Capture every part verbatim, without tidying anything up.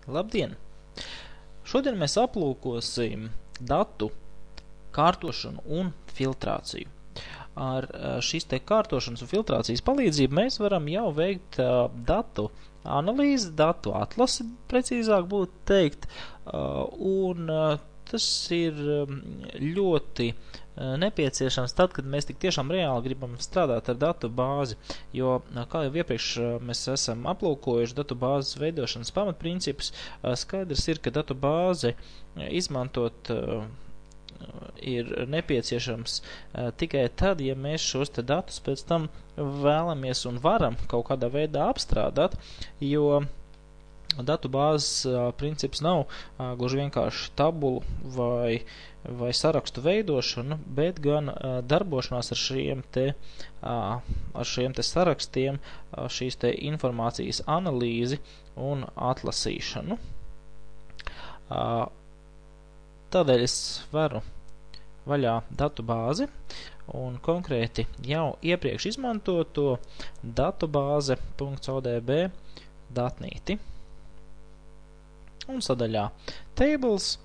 Labdien! Šodien mēs aplūkosim datu kārtošanu un filtrāciju. Ar šīs te kārtošanas un filtrācijas palīdzību mēs varam jau veikt uh, datu analīzi, datu atlasi, precīzāk būtu teikt, uh, un uh, tas ir ļoti nepieciešams tad, kad mēs tik tiešām reāli gribam strādāt ar datu bāzi, jo, kā jau iepriekš mēs esam aplūkojuši datu bāzes veidošanas pamatprincipus, skaidrs ir, ka datu bāzi izmantot ir nepieciešams tikai tad, ja mēs šos te datus pēc tam vēlamies un varam kaut kādā veidā apstrādāt, jo datu bāzes princips nav gluži vienkārši tabulu vai, vai sarakstu veidošana, bet gan darbošanās ar šiem te, ar šiem te sarakstiem, šīs te informācijas analīzi un atlasīšanu. Tādēļ es varu vaļā datu bāzi un konkrēti jau iepriekš izmantoto datubāze.odb datnīti. Un sadaļā tables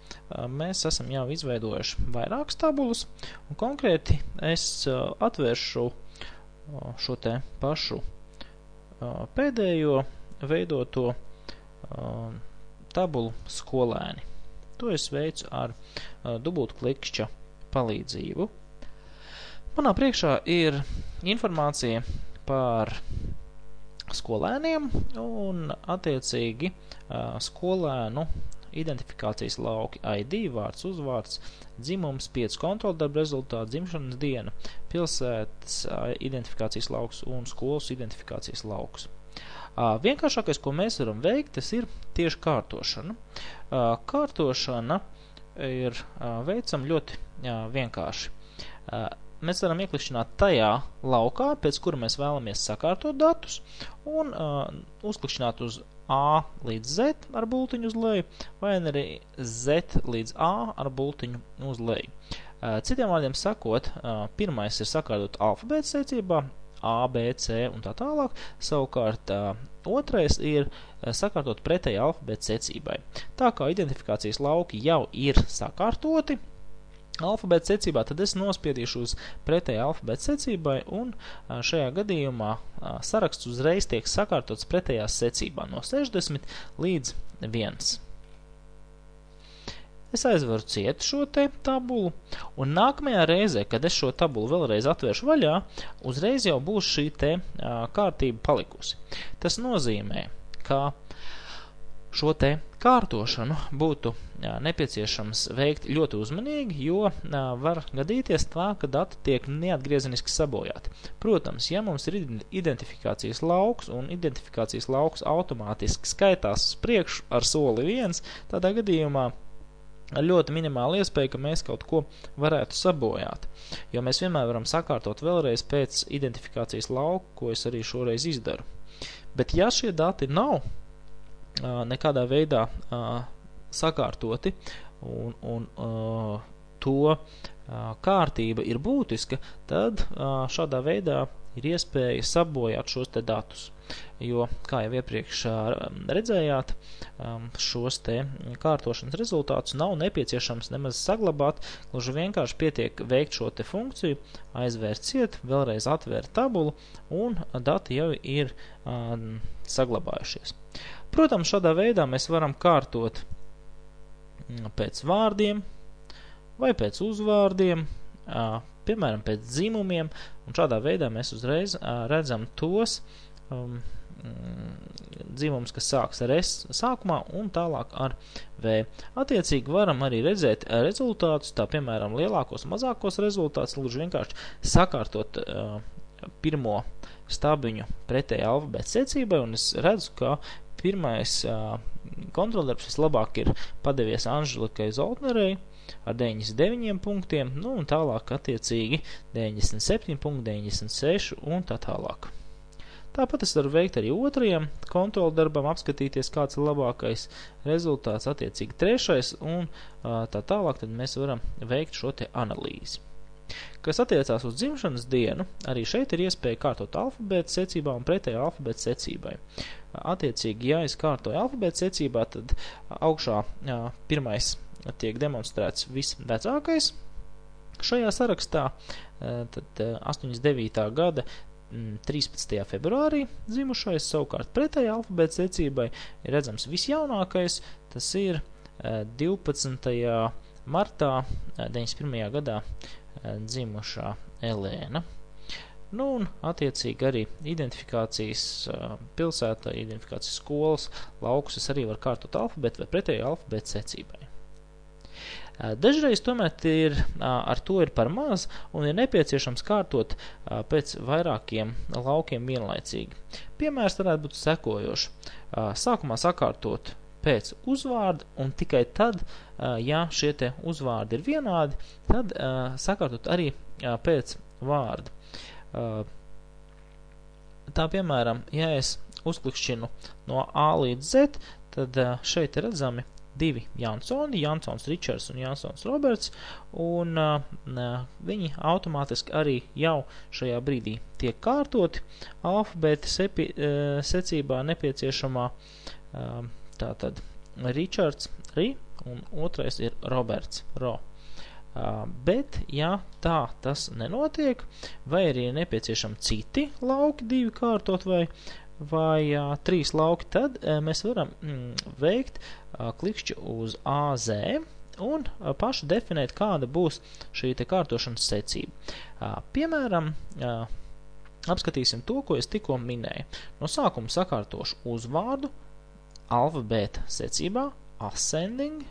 mēs esam jau izveidojuši vairākas tabulas, un konkrēti es atvēršu šo te pašu pēdējo veidoto tabulu skolēni. To es veicu ar dubultu klikšķa palīdzību. Manā priekšā ir informācija par skolēniem un attiecīgi skolēnu identifikācijas lauki I D, vārds, uzvārds, dzimums, pieci kontroldarba rezultāti, dzimšanas diena, pilsētas identifikācijas lauks un skolas identifikācijas lauks. Vienkāršākais, ko mēs varam veikt, tas ir tieši kārtošana. Kārtošana ir veicama ļoti vienkārši. Mēs varam ieklikšķināt tajā laukā, pēc kura mēs vēlamies sakārtot datus, un uh, uzklikšķināt uz A līdz Z ar bultiņu uz leju, vai arī Z līdz A ar bultiņu uz leju. Uh, citiem vārdiem sakot, uh, pirmais ir sakārtot alfabēta secībā, A, B, C un tā tālāk, savukārt uh, otrais ir uh, sakārtot pretēji alfabēta secībai. Tā kā identifikācijas lauki jau ir sakārtoti alfabēta secībā, tad es nospiedīšu uz pretēji alfabēta secībai, un šajā gadījumā saraksts uzreiz tiek sakārtots pretējās secībā no sešdesmit līdz viens. Es aizveru ciet šo te tabulu, un nākamajā reizē, kad es šo tabulu vēlreiz atvēršu vaļā, uzreiz jau būs šī te kārtība palikusi. Tas nozīmē, ka šo te kārtošanu būtu jā, nepieciešams veikt ļoti uzmanīgi, jo jā, var gadīties tā, ka dati tiek neatgriezeniski sabojāti. Protams, ja mums ir identifikācijas lauks un identifikācijas lauks automātiski skaitās uz priekšu ar soli viens, tādā gadījumā ļoti minimāla iespēja, ka mēs kaut ko varētu sabojāt, jo mēs vienmēr varam sakārtot vēlreiz pēc identifikācijas lauka, ko es arī šoreiz izdaru. Bet ja šie dati nav nekādā veidā uh, sakārtoti un, un uh, to uh, kārtība ir būtiska, tad uh, šādā veidā ir iespēja sabojāt šos te datus. Jo, kā jau iepriekš uh, redzējāt, um, šos te kārtošanas rezultātus nav nepieciešams nemaz saglabāt, gluži vienkārši pietiek veikt šo te funkciju, aizvērt ciet, vēlreiz atvērt tabulu, un dati jau ir uh, saglabājušies. Protams, šādā veidā mēs varam kārtot pēc vārdiem vai pēc uzvārdiem, piemēram, pēc dzimumiem, un šādā veidā mēs uzreiz redzam tos um, dzimums, kas sāks ar S sākumā un tālāk ar V. Attiecīgi varam arī redzēt rezultātus, tā piemēram lielākos, mazākos rezultātus, lūdzu vienkārši sakārtot uh, pirmo stabiņu pretēji alfabēta secībai, un es redzu, ka pirmais uh, kontroldarbs vislabāk ir padevies Anželikai Zoltnerei ar deviņdesmit deviņiem punktiem, nu un tālāk attiecīgi deviņdesmit septiņi punkti, deviņdesmit seši un tā tālāk. Tāpat es varu veikt arī otrajam kontroldarbam, apskatīties, kāds ir labākais rezultāts, attiecīgi trešais, un uh, tā tālāk tad mēs varam veikt šo te analīzi. Kas attiecās uz dzimšanas dienu, arī šeit ir iespēja kārtot alfabēta secībā un pretēji alfabēta secībai. attiecīgi, ja es kārtoju alfabēta secībā, tad augšā pirmais tiek demonstrēts visvecākais šajā sarakstā, tad astoņdesmit devītā gada trīspadsmitajā februārī dzimušais, savukārt pretēji alfabēta secībai ir redzams visjaunākais, tas ir divpadsmitajā martā deviņdesmit pirmajā gadā dzimušā Elēna. Nu, un attiecīgi arī identifikācijas pilsētā, identifikācijas skolas laukus es arī var kārtot alfabētu vai pretēji alfabēta secībai. Dažreiz tomēr ir, ar to ir par maz un ir nepieciešams kārtot pēc vairākiem laukiem vienlaicīgi. Piemērs varētu būt sekojoši. Sākumā sakārtot pēc uzvārda un tikai tad, ja šie te uzvārdi ir vienādi, tad sakārtot arī pēc vārda. Tā piemēram, ja es uzklikšķinu no A līdz Z, tad šeit ir redzami divi Jansoni, Jansons Ričards un Jansons Roberts, un uh, viņi automātiski arī jau šajā brīdī tiek kārtoti alfabēta sepi, uh, secībā nepieciešamā uh, tātad Ričards Ri un otrais ir Roberts Ro. Uh, bet, ja tā tas nenotiek, vai arī ir nepieciešami citi lauki divi kārtot vai vai uh, trīs lauki, tad uh, mēs varam mm, veikt uh, klikšķi uz A Z un uh, paši definēt, kāda būs šī te kārtošanas secība. Uh, piemēram, uh, apskatīsim to, ko es tikko minēju. No sākuma sakārtošu uzvārdu alfabēta secībā, ascending,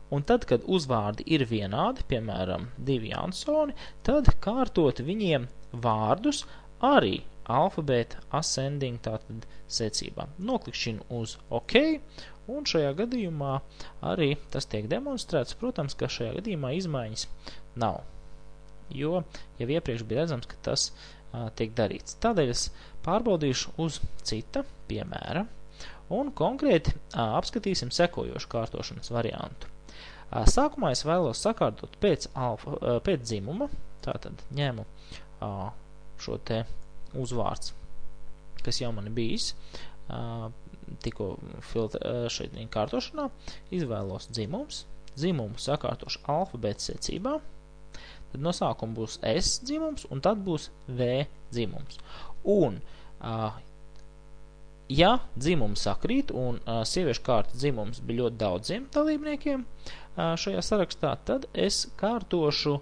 un tad, kad uzvārdi ir vienādi, piemēram, divi Jansoni, tad kārtot viņiem vārdus arī alfabēta ascending tātad secībā. Noklikšķinu uz OK, un šajā gadījumā arī tas tiek demonstrēts. Protams, ka šajā gadījumā izmaiņas nav, jo jau iepriekš bija redzams, ka tas a, tiek darīts. Tādēļ es pārbaudīšu uz cita piemēra, un konkrēti a, apskatīsim sekojošu kārtošanas variantu. A, sākumā es vēlos sakārtot pēc, alfa, a, pēc dzimuma, tātad ņemu a, šo te uzvārds, kas jau man ir bijis uh, tikko filtra, uh, šeit kārtošanā, izvēlos dzimums, dzimumu sakārtošu alfabēta secībā, tad no sākuma būs S dzimums un tad būs V dzimums. Un, uh, ja dzimums sakrīt un uh, sieviešu kārtas dzimums bija ļoti daudziem dalībniekiem uh, šajā sarakstā, tad es kārtošu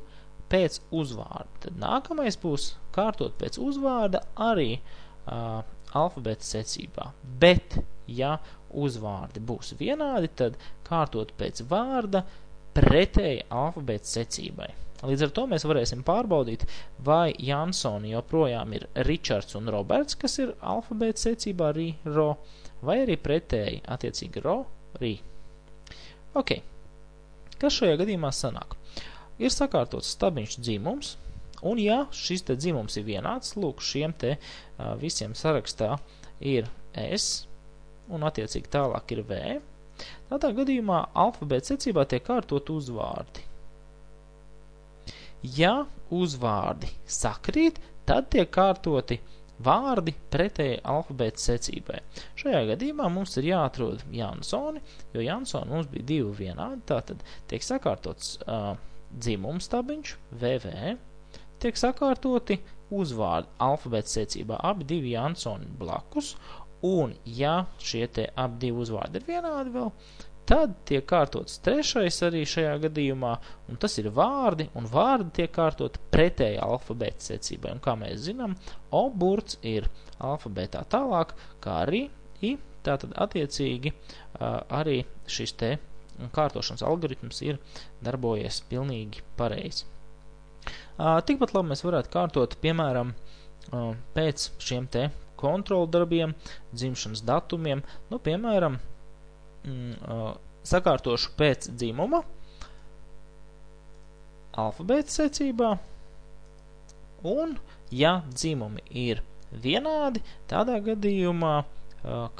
pēc uzvārda. Tad nākamais būs kārtot pēc uzvārda arī uh, alfabēta secībā. Bet, ja uzvārdi būs vienādi, tad kārtot pēc vārda pretēji alfabēta secībai. Līdz ar to mēs varēsim pārbaudīt, vai Jansoni joprojām ir Ričards un Roberts, kas ir alfabēta secībā Ri, Ro, vai arī pretēji, attiecīgi Ro, Ri. Ok. Kas šajā gadījumā sanāk? Ir sakārtots stabiņš dzimums, un ja šis te dzimums ir vienāds, lūk, šiem te uh, visiem sarakstā ir S, un attiecīgi tālāk ir V, tādā gadījumā alfabēta secībā tiek kārtot uzvārdi. Ja uzvārdi sakrīt, tad tiek kārtoti vārdi pretēji alfabēta secībai. Šajā gadījumā mums ir jāatrod Jansoni, jo Jansoni mums bija divi vienādi, tātad tiek sakārtots uh, dzimums stabiņš, V V, tiek sakārtoti uzvārdi alfabēta secībā abi divi Jansoni blakus, un ja šie te abi divi uzvārdi ir vienādi vēl, tad tiek kārtots trešais arī šajā gadījumā, un tas ir vārdi, un vārdi tiek kārtot pretēji alfabēta secībai. Un kā mēs zinām, O burts ir alfabētā tālāk, kā arī I, tātad attiecīgi arī šis te kārtošanas algoritms ir darbojies pilnīgi pareizi. Tikpat labi mēs varētu kārtot, piemēram, pēc šiem te kontrolu darbiem, dzimšanas datumiem, nu, piemēram, sakārtošu pēc dzimuma alfabēta secībā, un, ja dzimumi ir vienādi, tādā gadījumā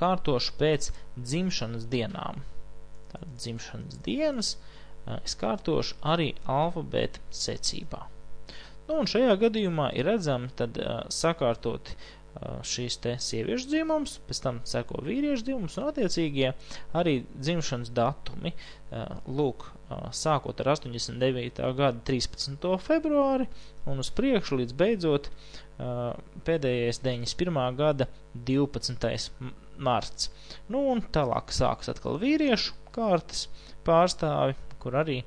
kārtošu pēc dzimšanas dienām. Tātad dzimšanas dienas es kārtošu arī alfabēta secībā. Nu, un šajā gadījumā ir redzami tad sakārtoti šīs te sieviešu dzimums, pēc tam seko vīriešu dzimums un attiecīgie arī dzimšanas datumi. Lūk, sākot ar astoņdesmit devītā gada trīspadsmito februāri un uz priekšu līdz beidzot pēdējais deviņdesmit pirmā gada divpadsmitais marts. Nu un tālāk sākas atkal vīriešu kārtas pārstāvi, kur arī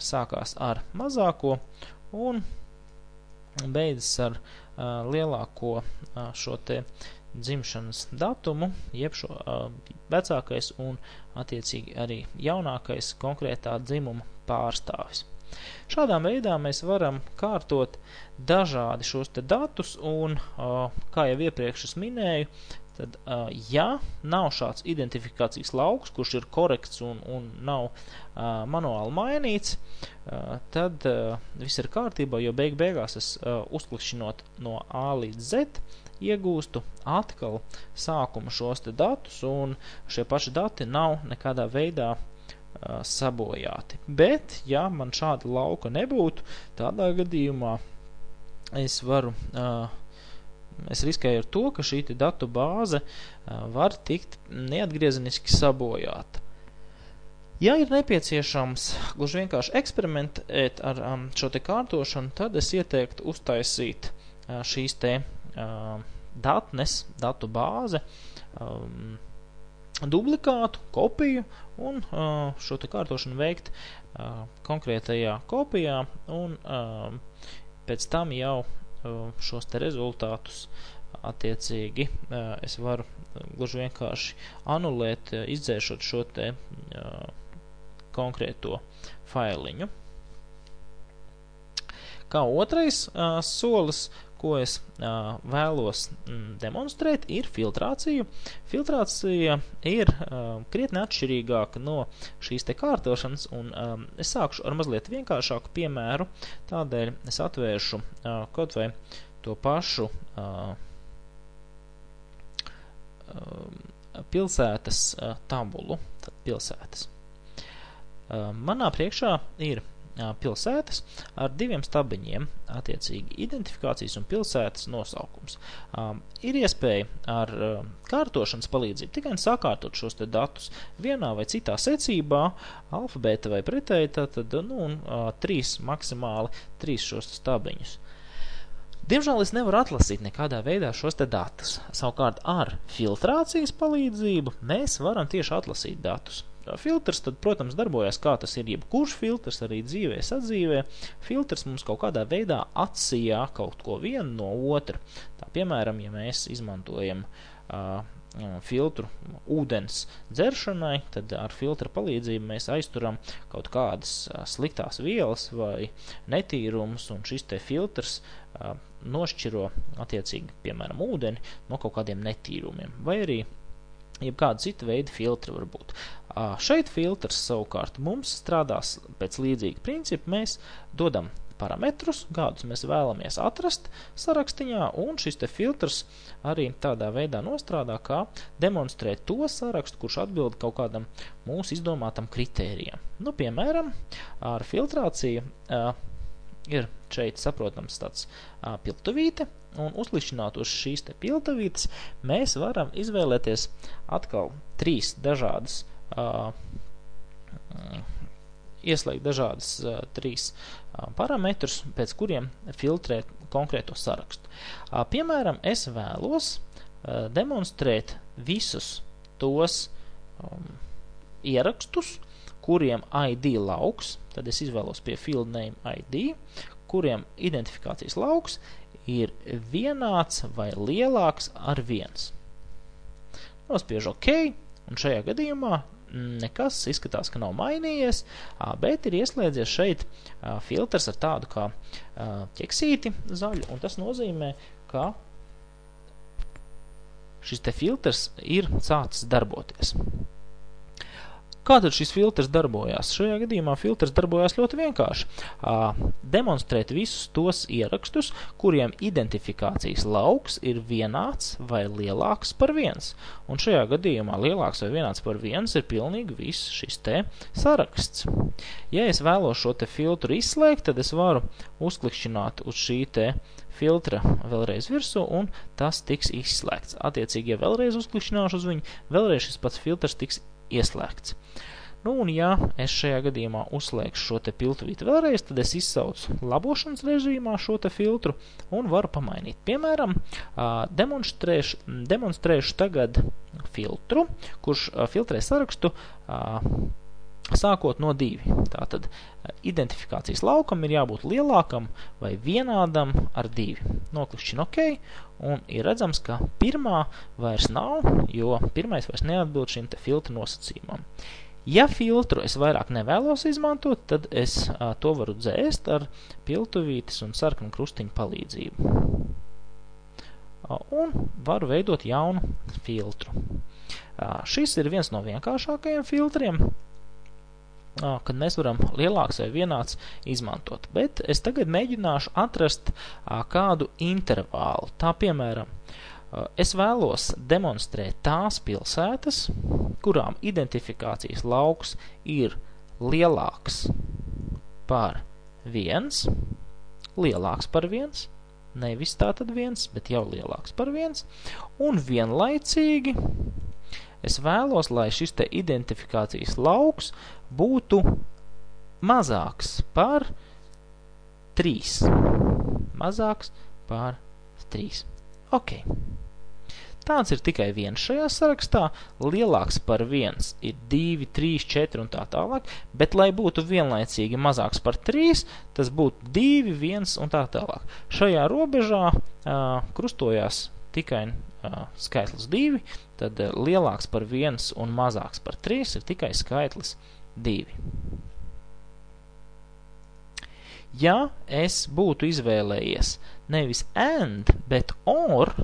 sākās ar mazāko un beidzas ar uh, lielāko uh, šo te dzimšanas datumu, jeb šo uh, vecākais un attiecīgi arī jaunākais konkrētā dzimuma pārstāvis. Šādā veidā mēs varam kārtot dažādi šos te datus un, uh, kā jau iepriekš es minēju, tad, uh, ja nav šāds identifikācijas lauks, kurš ir korekts un, un nav uh, manuāli mainīts, uh, tad uh, viss ir kārtībā, jo beig beigās es uh, uzklikšķinot no A līdz Z iegūstu atkal sākuma šos te datus, un šie paši dati nav nekādā veidā uh, sabojāti. Bet, ja man šāda lauka nebūtu, tādā gadījumā es varu uh, Es riskēju ar to, ka šī datu bāze var tikt neatgriezeniski sabojāta. Ja ir nepieciešams gluži vienkārši eksperimentēt ar um, šo te kārtošanu, tad es ieteiktu uztaisīt uh, šīs te uh, datnes, datu bāze, um, duplikātu, kopiju un uh, šo te kārtošanu veikt uh, konkrētajā kopijā un uh, pēc tam jau šos te rezultātus attiecīgi es varu gluži vienkārši anulēt, izdzēšot šo te konkrēto failiņu. Kā otrais solis, ko es uh, vēlos mm, demonstrēt, ir filtrācija. Filtrācija ir uh, krietni atšķirīgāka no šīs te kārtošanas, un um, es sākšu ar mazliet vienkāršāku piemēru, tādēļ es atvēršu uh, kaut vai to pašu uh, uh, pilsētas uh, tabulu, tad pilsētas. Uh, manā priekšā ir pilsētas ar diviem stabiņiem, attiecīgi identifikācijas un pilsētas nosaukums. Um, ir iespēja ar um, kārtošanas palīdzību tikai sakārtot šos te datus vienā vai citā secībā, alfabēta vai pretēji, tad, nu, un uh, trīs maksimāli, trīs šos stabiņus. Diemžēl es nevaru atlasīt nekādā veidā šos te datus. Savukārt ar filtrācijas palīdzību mēs varam tieši atlasīt datus. Filtrs tad, protams, darbojas kā tas ir jebkurš filtrs, arī dzīvē, sadzīvē. Filtrs mums kaut kādā veidā atsijā kaut ko vienu no otra. Tā, piemēram, ja mēs izmantojam uh, filtru ūdens dzeršanai, tad ar filtra palīdzību mēs aizturam kaut kādas uh, sliktās vielas vai netīrumus, un šis te filtrs uh, nošķiro attiecīgi, piemēram, ūdeni no kaut kādiem netīrumiem, vai arī jebkāda cita veida filtri var būt. Uh, šeit filtrs savukārt mums strādās pēc līdzīga principa. Mēs dodam parametrus, kādus mēs vēlamies atrast sarakstiņā, un šis te filtrs arī tādā veidā nostrādā, kā demonstrēt to sarakstu, kurš atbild kaut kādam mūsu izdomātam kritērijam. Nu, piemēram, ar filtrāciju uh, ir šeit saprotams tāds uh, piltuvīte, un uzlišināt uz šīs te piltuvītes mēs varam izvēlēties atkal trīs dažādas uh, ieslēgt dažādas uh, trīs uh, parametrus, pēc kuriem filtrēt konkrēto sarakstu. Uh, piemēram, es vēlos uh, demonstrēt visus tos um, ierakstus, kuriem I D lauks, tad es izvēlos pie field name I D, kuriem identifikācijas lauks ir vienāds vai lielāks ar viens. Nospiežu OK, un šajā gadījumā nekas izskatās, ka nav mainījies, bet ir ieslēdzies šeit filtrs ar tādu kā ķeksīti zaļu, un tas nozīmē, ka šis te filtrs ir sācis darboties. Kā tad šis filtrs darbojās? Šajā gadījumā filtrs darbojās ļoti vienkārši. Demonstrēt visus tos ierakstus, kuriem identifikācijas lauks ir vienāds vai lielāks par viens. Un šajā gadījumā lielāks vai vienāds par viens ir pilnīgi viss šis te saraksts. Ja es vēlos šo te filtru izslēgt, tad es varu uzklikšķināt uz šī te filtra vēlreiz virsū, un tas tiks izslēgts. Attiecīgi, ja vēlreiz uzklikšķināšu uz viņu, vēlreiz šis pats filtrs tiks ieslēgts. Nu, un ja es šajā gadījumā uzslēgšu šo te piltuvīti vēlreiz, tad es izsaucu labošanas režīmā šo te filtru un varu pamainīt. Piemēram, demonstrēšu, demonstrēšu tagad filtru, kurš filtrē sarakstu sākot no divi. Tātad identifikācijas laukam ir jābūt lielākam vai vienādam ar divi. Noklikšķinu OK, un ir redzams, ka pirmā vairs nav, jo pirmais vairs neatbild šim te filtra nosacījumam. Ja filtru es vairāk nevēlos izmantot, tad es a, to varu dzēst ar piltuvītes un sarkanu krustiņu palīdzību. A, un varu veidot jaunu filtru. A, šis ir viens no vienkāršākajiem filtriem, kad mēs varam lielāks vai vienāds izmantot. Bet es tagad mēģināšu atrast kādu intervālu. Tā piemēram, es vēlos demonstrēt tās pilsētas, kurām identifikācijas lauks ir lielāks par viens, lielāks par viens, nevis tātad viens, bet jau lielāks par viens, un vienlaicīgi es vēlos, lai šis te identifikācijas lauks būtu mazāks par trīs. Mazāks par trīs. Ok. Tāds ir tikai viens šajā sarakstā. Lielāks par viens ir divi, trīs, četri un tā tālāk, bet, lai būtu vienlaicīgi mazāks par trīs, tas būtu divi, viens un tā tālāk. Šajā robežā uh, krustojās tikai uh, skaitlis divi, tad uh, lielāks par viens un mazāks par trīs ir tikai skaitlis divi. Ja es būtu izvēlējies nevis and, bet or,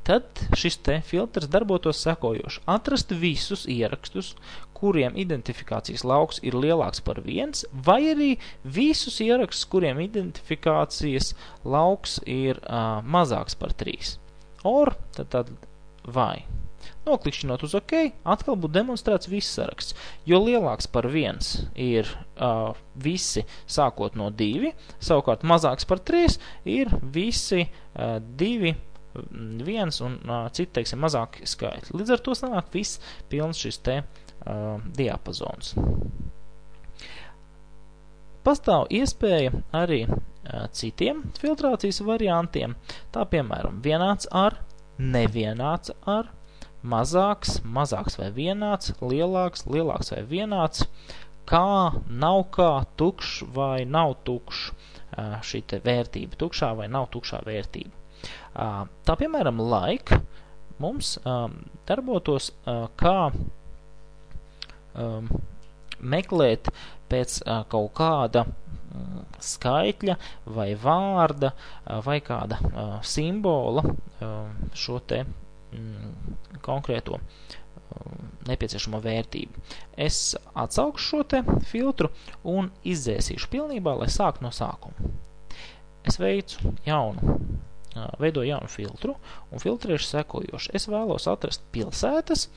tad šis te filtrs darbotos sekojoši. Atrast visus ierakstus, kuriem identifikācijas lauks ir lielāks par viens, vai arī visus ierakstus, kuriem identifikācijas lauks ir uh, mazāks par trīs. Or, tad tad vai. Noklikšķinot uz OK, atkal būtu demonstrēts viss saraksts, jo lielāks par viens ir uh, visi sākot no divi, savukārt mazāks par trīs ir visi uh, divi, viens un uh, citi, teiksim, mazāki skaitļi. Līdz ar to sanāk viss pilns šis te uh, diapazons. Pastāv iespēja arī uh, citiem filtrācijas variantiem, tā piemēram vienāds ar, nevienāds ar, mazāks, mazāks vai vienāds, lielāks, lielāks vai vienāds, kā, nav kā, tukšs vai nav tukšs, šī te vērtība, tukšā vai nav tukšā vērtība. Tā piemēram, like mums darbotos kā meklēt pēc kaut kāda skaitļa vai vārda vai kāda simbola šo te konkrēto nepieciešamo vērtību. Es atsaukšu šo te filtru un izdzēsīšu pilnībā, lai sāktu no sākuma. Es veicu jaunu, veidoju jaunu filtru un filtrēšu sekojoši. Es vēlos atrast pilsētas,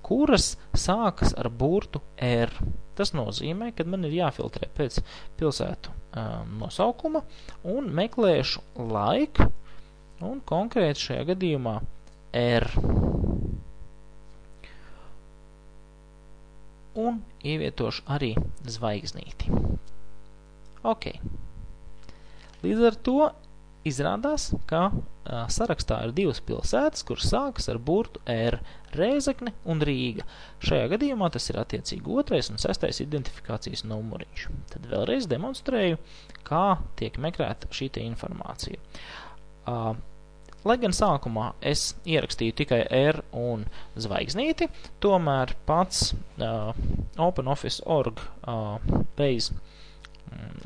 kuras sākas ar burtu R. Tas nozīmē, ka man ir jāfiltrē pēc pilsētu um, nosaukuma un meklēšu like un konkrēti šajā gadījumā R. Un ievietošu arī zvaigznīti. Ok. Līdz ar to izrādās, ka a, sarakstā ir divas pilsētas, kuras sākas ar burtu R – Rēzekne un Rīga. Šajā gadījumā tas ir attiecīgi otrais un sestais identifikācijas numuriņš. Tad vēlreiz demonstrēju, kā tiek meklēta šī te informācija. A, Lai gan sākumā es ierakstīju tikai R un zvaigznīti, tomēr pats uh, OpenOffice punkt org uh, base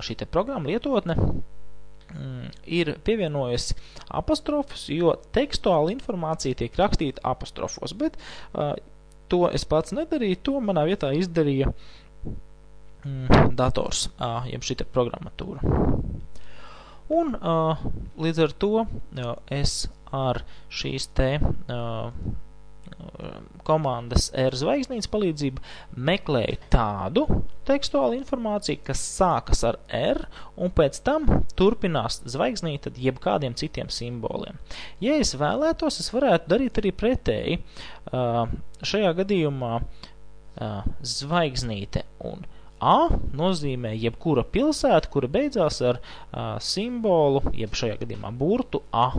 šī te programma lietotne um, ir pievienojusi apostrofus, jo tekstuāla informācija tiek rakstīta apostrofos, bet uh, to es pats nedarīju, to manā vietā izdarīja mm, dators, uh, jeb šī te programmatūra. Un uh, līdz ar to uh, es ar šīs te uh, komandas R zvaigznītes palīdzību meklēju tādu tekstuālu informāciju, kas sākas ar R un pēc tam turpinās zvaigznīti tad jebkādiem citiem simboliem. Ja es vēlētos, es varētu darīt arī pretēji. Šajā gadījumā zvaigznīte un A nozīmē jebkura pilsēta, kura beidzās ar simbolu, jeb šajā gadījumā burtu A.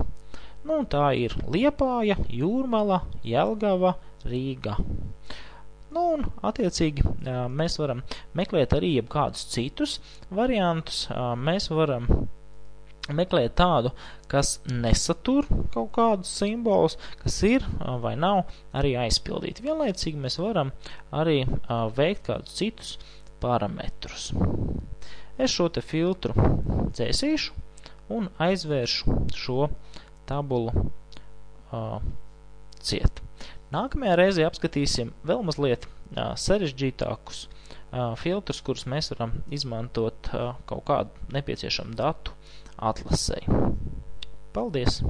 Nu, tā ir Liepāja, Jūrmala, Jelgava, Rīga. Nu, un attiecīgi mēs varam meklēt arī jebkādus citus variantus. Mēs varam meklēt tādu, kas nesatur kaut kādus simbolus, kas ir vai nav arī aizpildīti. Vienlaicīgi mēs varam arī veikt kādus citus parametrus. Es šo te filtru dzēsīšu un aizvēršu šo tabulu uh, ciet. Nākamajā reizē apskatīsim vēl mazliet uh, sarežģītākus uh, filtrus, kurus mēs varam izmantot uh, kaut kādu nepieciešamu datu atlasei. Paldies!